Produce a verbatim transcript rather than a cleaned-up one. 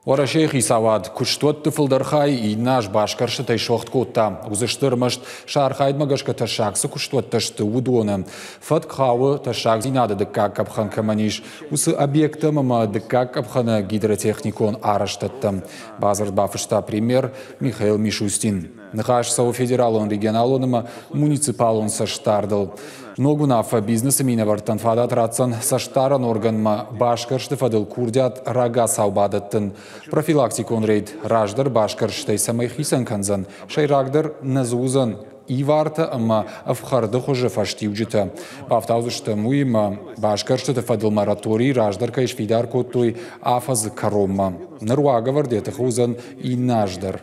Уӕрӕсейы хицауад куыстуӕтты фылдӕр хай иннӕ аз басгӕрстытӕй суӕгъд кодта. Уыдзысты ӕрмӕст сӕ архайдмӕ гӕсгӕ тӕссаг цы куыстуӕттӕ сты, уыдоны. Фӕтк хауы тӕссагдзинады дыккаг къӕпхӕн кӕмӕн ис, уыцы объекттӕм ӕмӕ дыккаг къӕпхӕны гидротехникон арӕзтӕдтӕм. Бадзырд бафыста премьер Михаил Мишустин. Ныхас цӕуы федералон, регионалон ӕмӕ муниципалон цӕстдардыл. Ног уынаффӕ бизнесы минӕвӕрттӕн фадат ратдзӕн цӕстдарӕн органмӕ басгӕрсты фӕдыл курдиат рагацау бадӕттын. Профилактикон рейд раздӕр басгӕрстӕй цӕмӕй хицӕн кӕндзӕн, сӕйрагдӕр нӕ дзы уыдзӕн ивартӕ ӕмӕ ӕфхӕрды хуызы фӕстиуджытӕ. Бафтаудзыстӕм уыимӕ басгӕрстыты фӕдыл мораторий раздӕр кӕй сфидар кодтой афӕдзы кӕронмӕ. Ныр уагӕвӕрд йӕ тыхы уыдзӕн иннӕ аз дӕр.